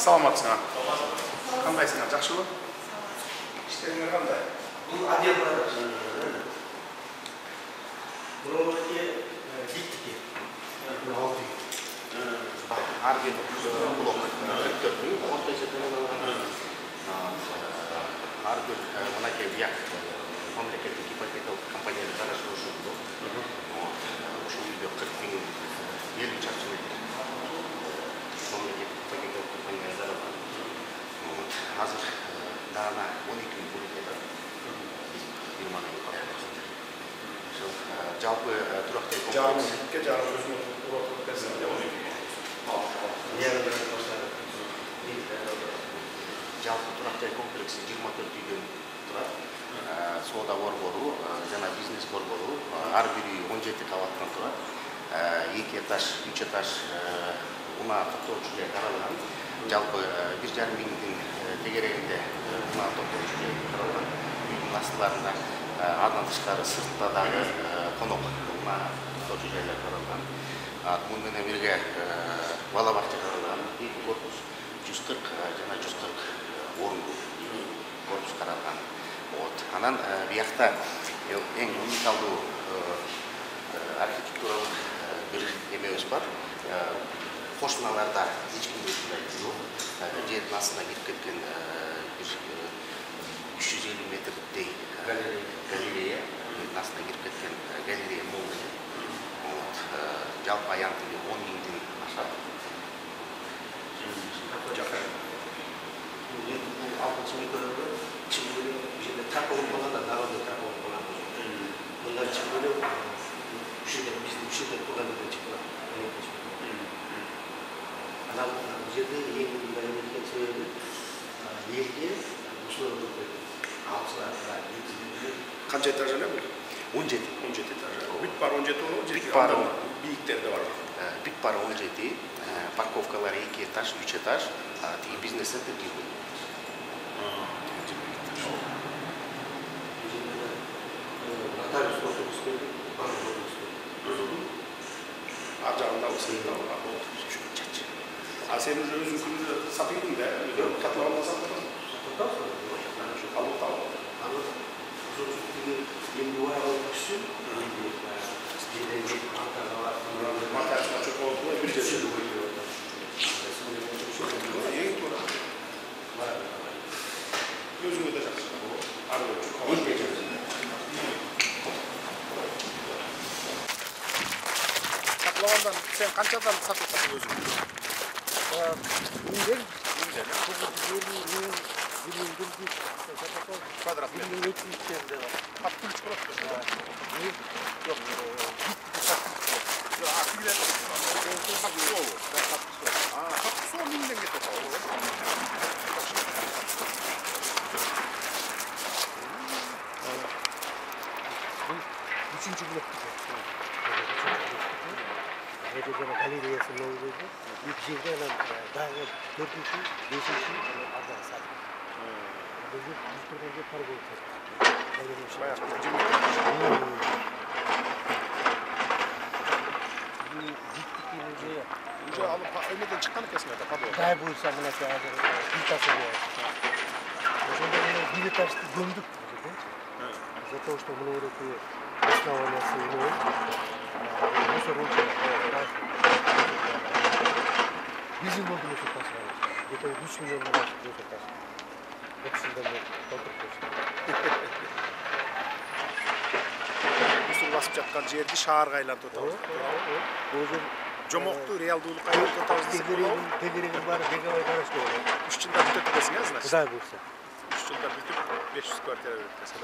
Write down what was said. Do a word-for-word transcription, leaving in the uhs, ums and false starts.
Саламатсыңар. Кандайсыңар? Жакшыбы? Иштериңер кандай? Бул отделдер. Бирөөдө биттики. алты. Ар бир блок кырк төрт миң, орто эсептен ар бир мынакей бияк мамлекеттик ипотекалык компаниялар карашып ошондо. Ошол үйдө кырк миң элүү чарчы метр мамлекеттик ипотекалык компания жаралган. Азыр даана он эки миң бөлүнөт. жыйырма миң калат. Ошол жалпы турак жай комплекс. Жарымке жарым өзүнө турак берсем деп он эки миң. Жалпы турак жай комплекси жыйырма төрт үйдөн турат. Соода борбору жана бизнес борбору ар бир үй он жети кабаттан турат. эки этаж, үч этаж унаа токтоочу жай каралган. Жалпы бир жарым миңдин тегерегинде унаа токтоочу жай каралган. Үйдүн астыларында андан тышкары сыртта дагы конок унаа токтоочу жайлар каралган. Муну менен бирге бала бакча каралган. эки корпус жүз кырк жана жүз кырк орунду корпус каралган. Вот. Анан биякта эң уникалдуу архитектуралык бир эмебиз бар. Кошуналарда эч кимде ушундай жок. Жердин астына кирип кеткен бир үч жүз элүү метрдей галерея, жердин астына кирип кеткен галерея мол. Вот. Жалпы аян тили он миңден ашат. Жакай. алтынчы микрорайонда чыгып жерде такой болганда народу такой болгон. Мындан чыгып эле ушерде биздин ушерде турган жерден чыгып. Анан бул жерде эң мындай эмелген себеби элге ушул алсалар Канча этаж эле бул? он жети. он жети этаж. Бүт бар он жети болобу? Бүт бар бийиктери да бар. Бүт бар он жети. Парковкалар эки этаж, үч этаж, тиги бизнес центр жыйырма. Ар жагында сыйында бар. А сен уже өзүң күндө сатыйдың да, катлаганда сатасың. Алып алып. Матачка чоколду бир жерде. Эң туура. Өзүңө да жакшы. Ар бир Сатлагандан сен канчадан сатасың өзүң? Миңден Миңден. Квадрат метр. Кат күлүч болот. Жок. Акилер. Катсоо. А, катсоо миңден кетет. үчүнчү блок. Жерде галереясы болду. Эки жерде анан дагы төртүнчү, бешинчи арзан сат. Бул биз турган жер торговый центр. Баягы уже алып эмеден чыккан экенсиң да, подвал. Дай буйса мынакей азыр плитасы бар. Ошондо мына бир этажды көмдүк. За то, что мы уроки основания своего, мусор очень Bizim olduğunu çok tasarlamış. Geçen üç milyon lira diye tasarlamış. Hepsinden de kontrol etmiştim. Mısır basıp жаткан жерди шаарга айлантып атабыз. Өзүм Жомокту реалдуулукка айлантып атабыз десек болобу? Тегерегим бар, бегабай карашты болот. үч жылда бүтөт экенсиң, значит. Кудай буйрса. үч жылда бүтүп беш жүз квартира берет экенсиң.